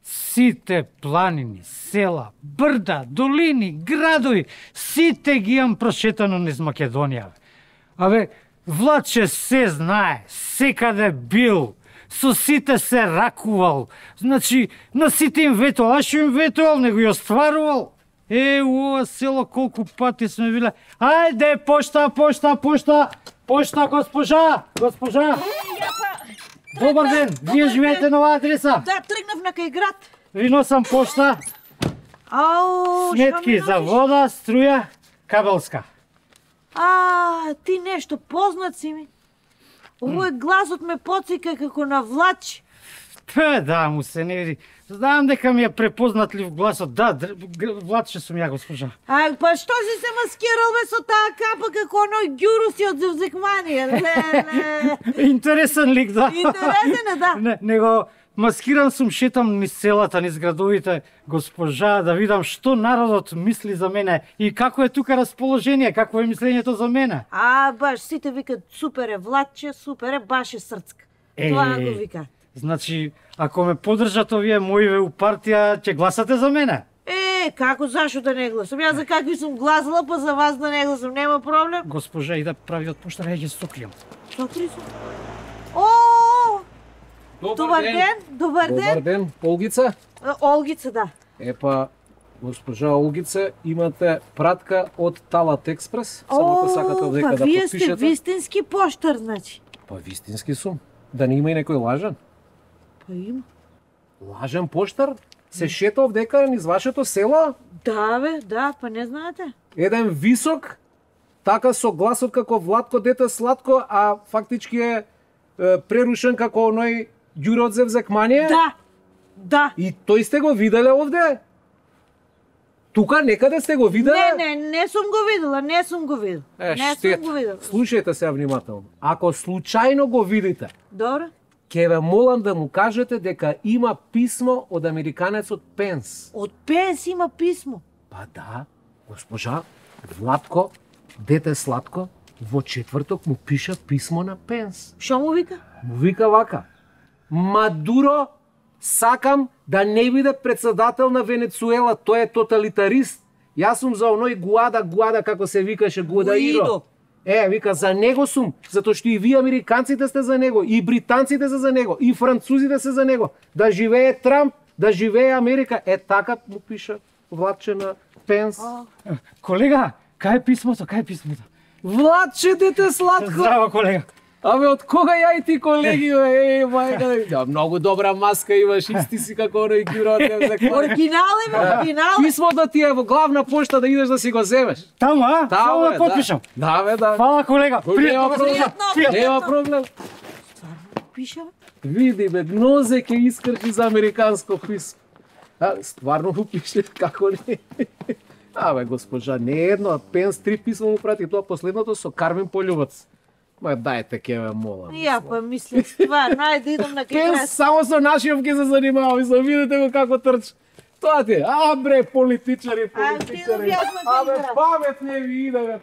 Сите планини, села, брда, долини, градови, сите ги имам прошетано низ Македонија. Владче се знае, секаде бил, со сите се ракувал, значи на сите им ветувал, а што им ветувал, него ја остварувал. Ова село колку пати сме биле. Ајде, пошта, госпожа. Добар ден, вие живеете на оваа адреса? Да, тргнав на кај град. Ви носам пошта. Сметки за вода, струја, кабелска. Ти нешто познат си ми. Овој гласот ме потсека како на Владче. Да, му се не види. Знам дека ми е препознатлив гласот. Да, Владче сум ја, госпожа. Па што си се маскирал бе со таа капа како оној Ѓуруси од Зевзекманија? Интересен лик, да. Интересен е, да. Него маскиран сум, шетам низ селата, низ градовите, госпожа, да видам што народот мисли за мене и како е тука расположение, какво е мислењето за мене. Баш, сите викат супер е Владче, супер е, баш е срцка. Тоа го викат. Значи, ако ме поддржат овие моиве у партија, ќе гласате за мене? Како, зашо да не гласам? Јас за какви сум гласала, па за вас да не гласам, нема проблем. Госпожа, и да прави од поштара, ја ќе сокријам. Сокри се? Добар ден. Добар ден, Олгица? Олгица, да. Госпожа Олгица, имате пратка од Талат Експрес. Само ако сакате овдека да вие подпишете. сте вистински поштар, значи. Вистински сум. Да не има и некој лажен? Има. Лажен поштар? Се шета овдека низ вашето село? Да, бе, да, па не знаете. Еден висок, така со гласот како Владко дете сладко, а фактички е прерушен како оној Ѓуро од Зевзекманија? Да. И тој сте го виделе овде? Тука некаде сте го виделе? Не сум го видел. Штет. Слушајте се внимателно. Ако случајно го видите, добро, ќе ве молам да му кажете дека има писмо од американецот Пенс. Од Пенс има писмо? Па да, госпожа, Владко, дете сладко, во четврток му пиша писмо на Пенс. Што му вика? Му вика вака: Мадуро, сакам да не биде председател на Венецуела, тој е тоталитарист. Јас сум за оној Гуада, како се викаше, Гуадаиро. Вика, за него сум, затоа што и вие американците сте за него, и британците се за него, и французите се за него. Да живее Трамп, да живее Америка. Така му пиша Владче на Пенс. Колега, кај е писмото? Владче, дете сладко. Здраво, колега. Од кога ја и ти, колеги, мајка? Многу добра маска имаш, исти си како оној Ѓуро од Зевзекманија. Оригинал. Писмото ти е во главна пошта, да идеш да си го земеш. Таму, само да подпишам. Да. Фала, колега. Нема проблем. Пиша? Види, бе, нозе ке искрчи за американско писмо. Стварно го пише, како не? Госпожа, не едно, Пенс 3 писмо му прати, тоа последното со Кармен Полјубац. Дајте, ке ме молам. Ја па мислам стварно, ајде идам на кај Пенс само со нашиот ќе се занимава, и видите го како трчи. Тоа ти е, политичари. Памет не ви иде, бе.